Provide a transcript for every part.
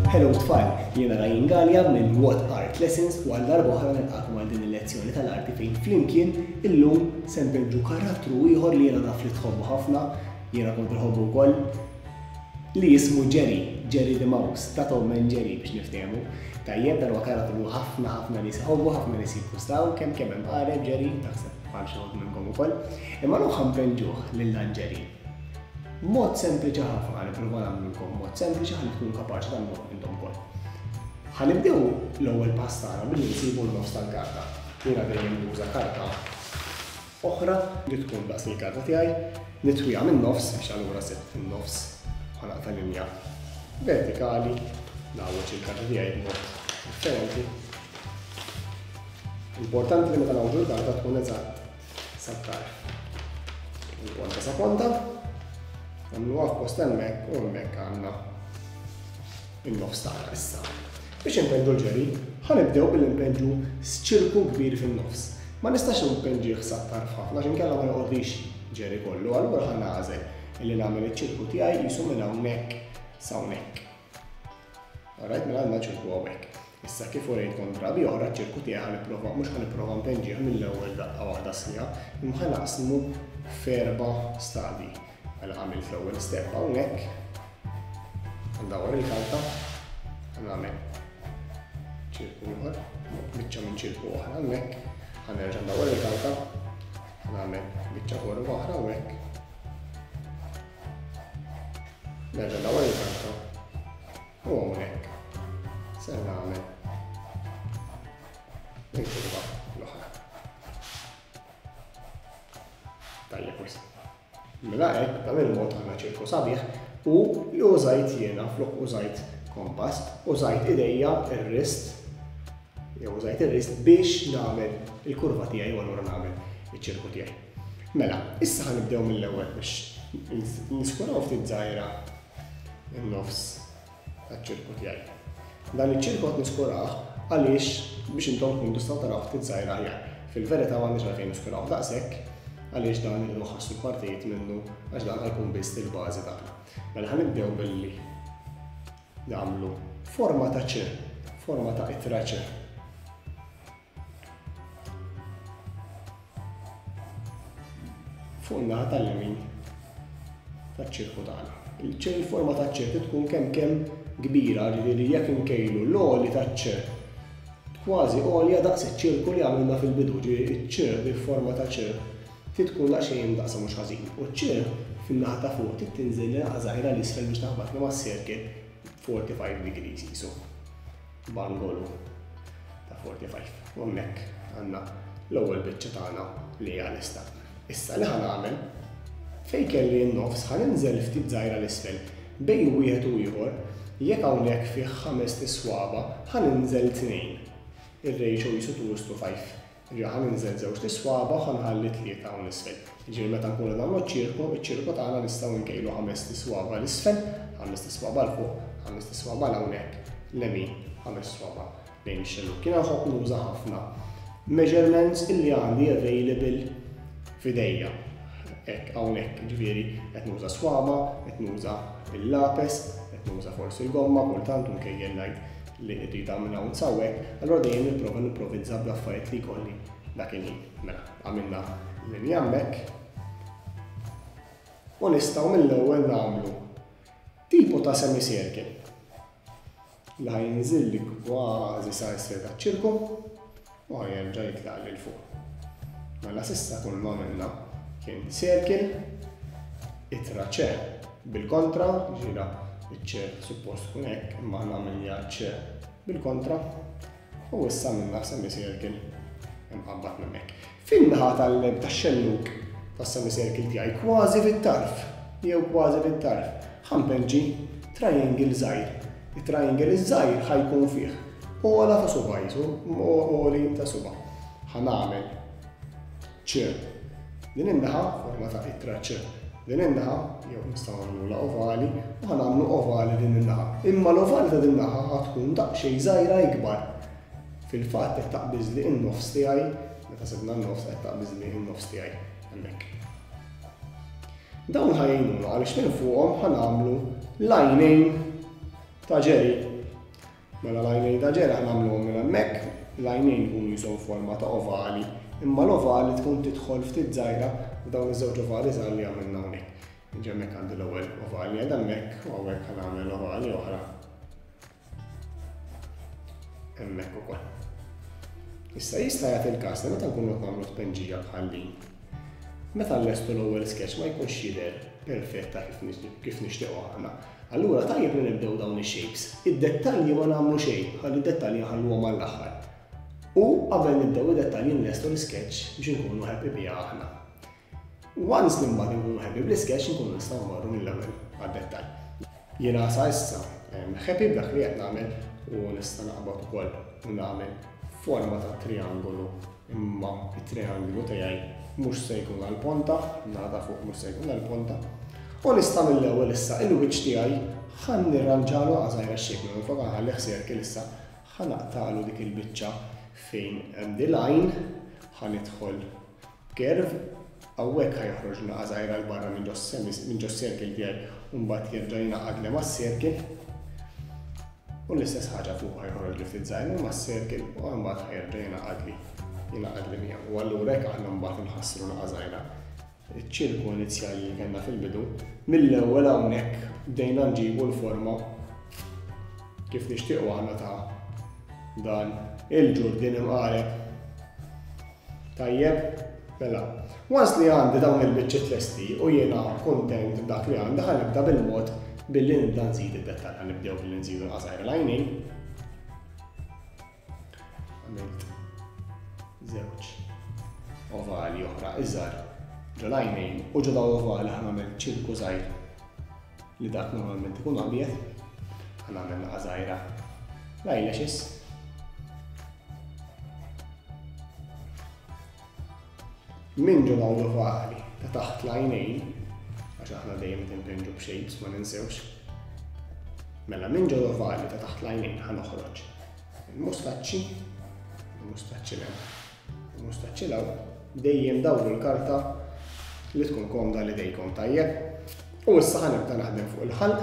Hello tfal, jiena Ryan Galea minn What Art Lessons u għal darba oħra nilqakom għal din il-lezzjoni tal-arti fejn flimkien illum se npinġu karattru ieħor li jiena naf li tħobbu ħafna, jiena kont inħobbu wkoll, li jismu Jerry, Jerry the Mouse, ta' Tom and Jerry biex niftehmu. Tajjeb, dan huwa karattru li ħafna ħafna nies iħobbu, ħafna nies jikkustaw, kemm kemm hemm qareb Jerry, naħseb bħal xi ħadd minnkom ukoll. Imma llum ħa npenġuh lil dan Jerry. Mod sempliċi ħafna, ħa nipprova nagħmlulkom mod sempliċi ħalli tkunu kapaċi tagħmluh intom ukoll. Ħa nibdew l-ewwel pass tagħna billi nsibu n-nofs tal-karta. Jiena dejjem nuża karta oħra li tkun daqs il-karta tiegħi, nitwiha min-nofs biex allura sibt in-nofs u ħa naqta' linja vertikali, ngħawweġ il-karta tiegħi b'mod differenti. Importanti li meta ngħawġu l-karta tkun eżatt sat-tarf. Il-ponta sa ponta, nagħmluha f'post hemmhekk u hemmhekk għandna in-nofs tagħna issa. Biex inpenġu l-ġeri, ħa nibdew billi npenġu ċirku kbir fin-nofs. Ma nistax npenġih sat-tarf ħafna għax inkella ma joqgħodlix ġeri kollu, allura ħa nagħżel illi nagħmel iċ-ċirku tiegħi qisu minn hawnhekk sa hawnhekk. Alright, mela għandna ċirku hawnhekk. Issa kif urejtkom drabi oħra ċ-ċirku tiegħi ħa nipprova mhux ħa nipprova npenġih mill-ewwel daqqa waħda sħiħa, imma ħa naqsmu f'erba' stadji. Mela għamilt l-ewwel step hawnhekk, ndawwar il-karta, ħa nagħmel ċirku ieħor, biċċa minn ċirku oħra hawnhekk, ħa nerġa' ndawwar il-karta, ħa nagħmel biċċa kurva oħra hawnhekk. Nerġa' ndawwar il-karta u hawnhekk se nagħmel il-kurva l-oħra. Tajjeb wisq. Mela hekk, b'dan il-mod għandna ċirku sabiħ u li użajt jiena flok użajt kompass, użajt idejja ir-wrist jew użajt ir-wrist biex nagħmel il-kurva tiegħi u allura nagħmel iċ-ċirku tiegħi. Mela, issa ħa nibdew mill-ewwel biex niskuraw ftit żgħira in-nofs taċ-ċirku tiegħi. Dan iċ-ċirku qed niskurah għaliex biex intom tkunu tistgħu taraw ftit żgħira aħjar. Fil-verità m'għandniex għalfejn niskurawh daqshekk għaliex dan irridu nħassu partijiet minnu għax dan ħa jkun biss il-bażi tagħna. Mela ħa nibdew billi nagħmlu forma ta' ċ, forma ta' ittra ċ. Fuq in-naħa tal-lemin taċ-ċirku tagħna. Il-forma taċ-ċirku tkun kemm kemm kbira, ġifieri jekk inkejlu l-għoli taċ-ċ kważi għolja daqs iċ-ċirku li għamilna fil-bidu, ġifieri iċ-ċ bil-forma ta' ċ trid tkun daqsxejn imdaqqsa mhux ħażin. U ċ fin-naħa ta' fuq trid tinżel li naqa' żgħira 'l isfel biex taħbatni mas-circle 45 degrees qisu. b'angolu ta' 45. U hemmhekk għandna l-ewwel biċċa tagħna li hija lesta. Issa li ħa nagħmel fejn kelli n-nofs ħa ninżel ftit żgħira 'l isfel bejn wieħed u ieħor, jekk hawnhekk fih ħamest iswaba' ħa ninżel tnejn. Ir-ratio qisu 2 is to 5. Jiġifieri ħa ninżel żewġt iswaba' u ħa nħalli tlieta hawn isfel. Jiġifieri meta nkunu qed nagħmlu ċ-ċirku, iċ-ċirku tagħna nistgħu nkejlu ħamest iswaba' 'l isfel, ħamest iswaba' 'l fuq, ħamest iswaba' 'l hawnhekk, lemin, ħames swaba' lejn ix-xellug. Jiena nħobb nuża ħafna measurements illi għandi available f'idejja. Hekk hawnhekk, jiġifieri qed nuża swaba', qed nuża l-lapes, qed nuża forsi l-gomma kultant u nkejjel ngħid li rridha minn hawn s'hawnhekk, allura dejjem nipprova nimprovizza bl-affarijiet li jkolli dak il-ħin. Mela, għamilna linja hemmhekk u nistgħu mill-ewwel nagħmlu tipo ta' semicircle li ħa jinżilli kważi sa isfel taċ-ċirku u ħa jerġa' jitlaq lil fuq. Mela s'issa kull ma għamilna kien circle, ittra ċe bil-kontra, ġira iċ-ċe suppost tkun hekk, imma aħna għamilniha ċe bil-kontra, u issa għamilna semicircle imqabbad minn hekk. Fin-naħa tax-xellug tas-semicircle tiegħi kważi fit-tarf, jew kważi fit-tarf, ħa npenġi triangle żgħir. It-triangle iż-żgħir ħa jkun fih ogħla ta' suba' qisu, għoli ta' suba'. Ħa nagħmel ċ din in-naħa, forma ta' ittra ċ din in-naħa, jew nistgħu nagħmlulha ovali, u ħa nagħmlu ovali din in-naħa. Imma l-ovali ta' din naħa ħa tkun daqsxejn żgħira ikbar. Fil-fatt qed taqbiżli n-nofs tiegħi, meta sibna n-nofs qed taqbiżli n-nofs tiegħi hemmhekk. Dawn ħa jgħinuna għaliex minn fuqhom ħa nagħmlu l-għajnejn ta' Jerry. Mela l-għajnejn ta' Jerry ħa nagħmluhom minn hemmhekk, l-għajnejn ikunu qishom forma ta' ovali, imma l-ovali tkun tidħol ftit żgħira f'dawn iż-żewġ ovali żgħar li għamilna hawnhekk. Jiġi hemmhekk għandi l-ewwel ovali qiegħda hemmhekk u hawnhekk ħa nagħmel ovali oħra hemmhekk ukoll. Issa jista' jagħti l-każ li meta nkunu qed nagħmlu tpenġija bħal din, meta nlestu l-ewwel sketch ma jkunx jidher perfetta kif nixtiequ aħna. Allura tajjeb li nibdew dawn ix-shapes. Id-dettalji ma nagħmlu xejn, ħalli d-dettalji nħalluhom għall-aħħar. U qabel nibdew id-dettalji nlestu l-isketch biex inkunu happy biha aħna. Once li mbagħad inkunu happy bl-isketch inkunu nistgħu mmorru mill-ewwel għad-dettall. Jiena sa issa happy b'dak li qed nagħmel u nista' naqbad ukoll u nagħmel forma ta' triangolu imma it-triangolu tiegħi mhux se jkun għal ponta, naħa ta' fuq mhux se jkun għal ponta. U nista' mill-ewwel issa il-wiċċ tiegħi ħa nirranġalu għażajra x-shape minflok nħallih circle issa ħa naqtagħlu dik il-biċċa fejn hemm the line, ħa nidħol B'curve, hawnhekk ħa joħroġ naqa' żgħira 'l barra minn ġos-semi minn ġos-circle tiegħi u mbagħad jerġa' jingħaqadli mas-circle. U l-istess ħaġa fuq ħa joħroġli ftit żgħir minn mas-circle u mbagħad ħa jerġa' jingħaqadli jingħaqadli miegħu. U allura hekk aħna mbagħad inħassru naqa' żgħira iċ-ċirku inizjali li kellna fil-bidu. Mill-ewwel hawnhekk bdejna nġibu l-forma kif nixtiequ aħna ta' dan il-ġurdien imqareb. Tajjeb, mela, once li għandi dawn il-biċċiet lesti u jiena kuntent b'dak li għandi ħa nibda bil-mod billi nibda nżid id-dettall. Ħa nibdew billi nżidu l-qasajr l-għajnejn. Għamilt żewġ ovali oħra iżgħar ġo l-għajnejn u ġo dawn l-ovali ħa nagħmel ċirku żgħir li dak normalment ikun abjad. Ħa nagħmel naqa' żgħira l-eyelashes. Minn ġo dawn l-ovali ta' taħt l-għajnejn, għax aħna dejjem qed inpinġu b'shapes ma ninsewx. Mela minn ġo l-ovali ta' taħt l-għajnejn ħa noħroġ il-mustaċċi, il-mustaċċi l il-mustaċċi l dejjem dawru l-karta li tkun komda li dejkom tajjeb. U issa ħa nibda naħdem fuq il-ħalq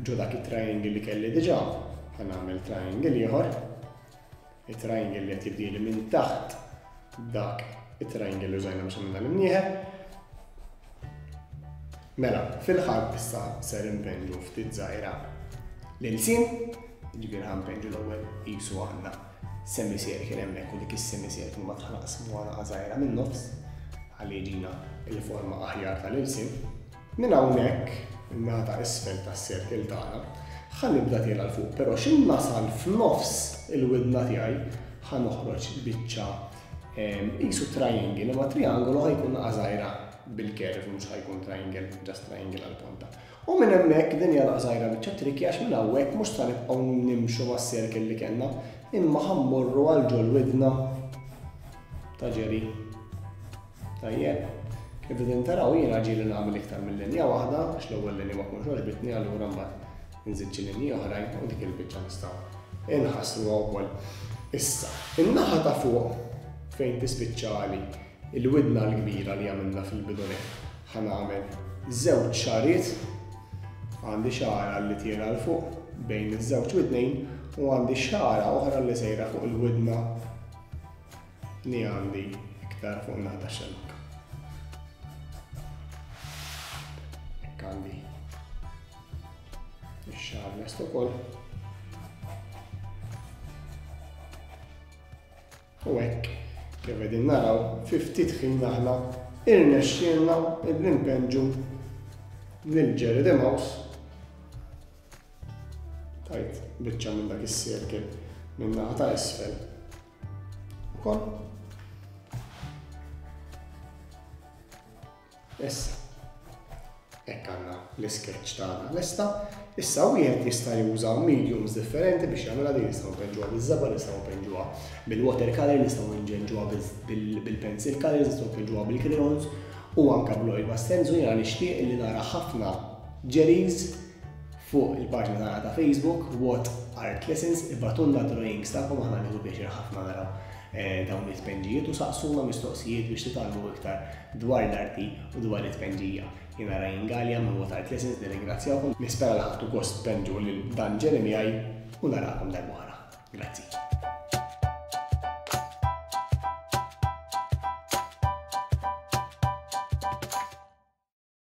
ġo dak it-triangle li kelli diġà, ħa nagħmel triangle ieħor. It-triangle li qed jibdieli minn taħt dak it-triangle li użajna biex għamilna l-imnieħer. Mela, fil-ħalq issa ser inpenġu ftit żgħira l-ilsien, ġifieri ħa npenġu l-ewwel qisu għandna semicircle hemmhekk u dik is-semicircle mbagħad ħa naqsmuha naqa' żgħira min-nofs ħalli jiġina l-forma aħjar tal-ilsien. Minn hawnhekk, in-naħa ta' isfel tas-circle tagħna, ħa nibda tiela' 'l fuq, però x'in nasal f'nofs il-widna tiegħi ħa noħroġ biċċa qisu triangle, imma triangolu ħa jkun naqa' żgħira bil-curve mhux ħa jkun triangle, just triangle għall-ponta. U minn hemmhekk din hija naqa' żgħira biċċa tricky għax minn hawnhekk mhux sa nibqgħu nimxu mas-circle li kellna, imma ħa mmorru għal ġol-widna ta' Jerry. Tajjeb. Kif qegħdin taraw jiena ġieli nagħmel iktar minn linja waħda għax l-ewwel linja ma tkunx għoġbitni allura mbagħad inżid xi linji oħrajn u dik il-biċċa nistgħu inħassruha wkoll. Issa, in-naħa ta' fuq fejn tispiċċali il-widna l-kbira li għamilna fil-bidu nett ħa nagħmel żewġ xagħriet, għandi xagħra li tiela' 'l fuq bejn iż-żewġ widnejn u għandi xagħra oħra li sejra fuq il-widna li għandi iktar fuq naħa tax-xellug. Hekk għandi ix-xagħar lest ukoll. U hekk kif qegħdin naraw fi ftit ħin aħna irnexxielna illi npenġu lil Jerry the Mouse tajt biċċa minn dak is-circle minn naħa ta' isfel ukoll. Issa, hekk għandna l-isketch tagħna lesta. Issa wieħed jista' juża mediums differenti biex jagħmilha din nistgħu npenġuha biż-żebgħa, nistgħu npenġuha bil-watercolor, nistgħu nġenġuha bil-pencil colors, nistgħu npenġuha bil-crayons u anke bl-oil pastels u jiena nixtieq li nara ħafna Jerry's Fuq il-paġna tagħna ta' Facebook, What Art Lessons, ibagħtulna d-drawings tagħkom aħna nieħdu pjaċir ħafna naraw. dawn it-tpenġijiet u saqsuna mistoqsijiet biex titgħallmu iktar dwar l-arti u dwar it-tpenġija. Jiena Ryan Galea minn What Art Lessons nirringrazzjakom, nispera li ħadtu gost tpenġu lil dan Jeremy u narakom darb'oħra. Grazzi.